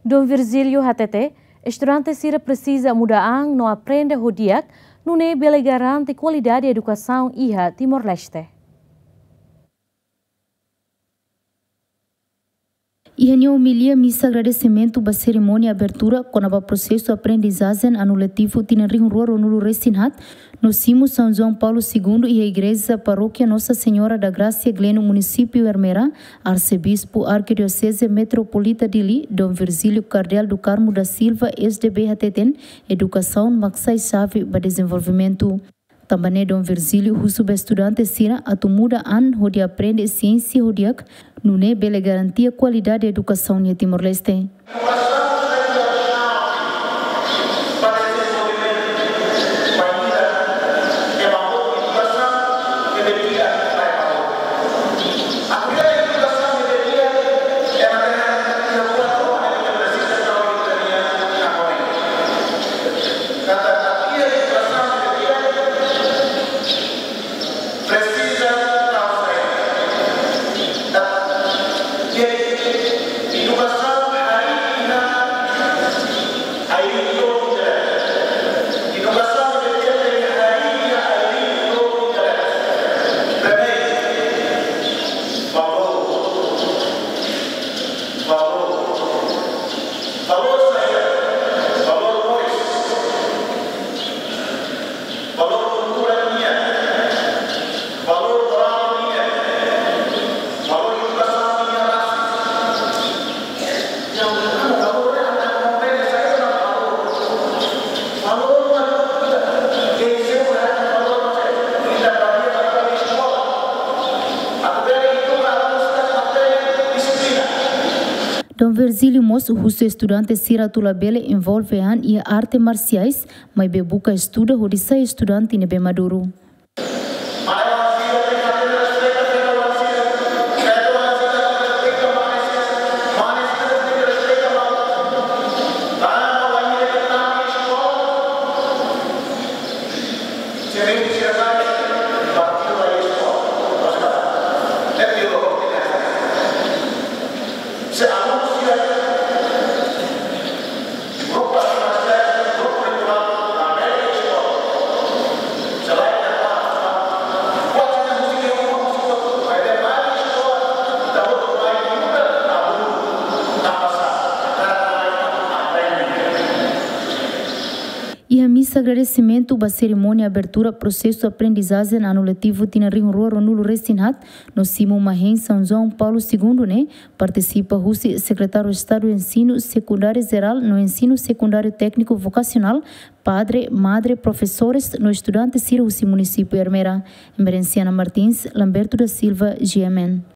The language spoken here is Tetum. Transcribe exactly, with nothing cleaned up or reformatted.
Dom Virgílio hatete, estudante sira presiza muda an no aprende ho di'ak, nune'e bele garante kualidade edukasaun iha Timor-Leste. Iha nia omilia misa agradesimentu ba serimónia abertura kona-ba prosesu aprendizajen anu letivu tinan rihun rua ruanulu-resin-haat, no simu São João Paulo segundo iha Igreja Paróquia Nossa Senhora da Graça Gleno, Munisípiu Ermera, Arsebispu Arkidioseze Metropolita Dili, Dom Virgílio Kardeál do Carmo da Silva, S D B, hateten, edukasaun mak sai xave ba dezenvolvimentu. Tanba ne'e Dom Virgílio husu ba estudante sira atu muda an hodi aprende siénsia ho di'ak, nune'e bele garantia kualidade edukasaun iha Timor-Leste. Presiza tau sai. Edukasaun harii iha ai-riin dook ida. Edukasaun ne'ebé di'ak harii iha ai-riin dook ida. Primeiru, valór. Valór. Valór saida? Valór moris. Valór kultura nian, valór morál nian, valór edukasaun nian rasik. Yang pertama, valór yang akan memberi saya adalah valór. Valór mak ita, ita bazeia ba eskola. Atu bele ita harus disiplina. Dom Virgílio mós husu estudante sira atu labele envolve an iha arte marsiais, maibé buka estuda hodi sai estudante ne'ebé maduru. Iha misa agradesimentu ba serimónia abertura prosesu aprendizajen anu letivu tinan rihun rua ruanulu-resin-haat, no simu mahein São João Paulo segundo ne'e, partisipa husi Sekretáriu Estadu Ensinu Sekundáriu Jerál no Ensinu Sekundáriu Tékniku Vokasionál, padre, madre, profesores no estudante sira husi Munisípiu Ermera. Emerenciana Martins, Lamberto da Silva, G M N.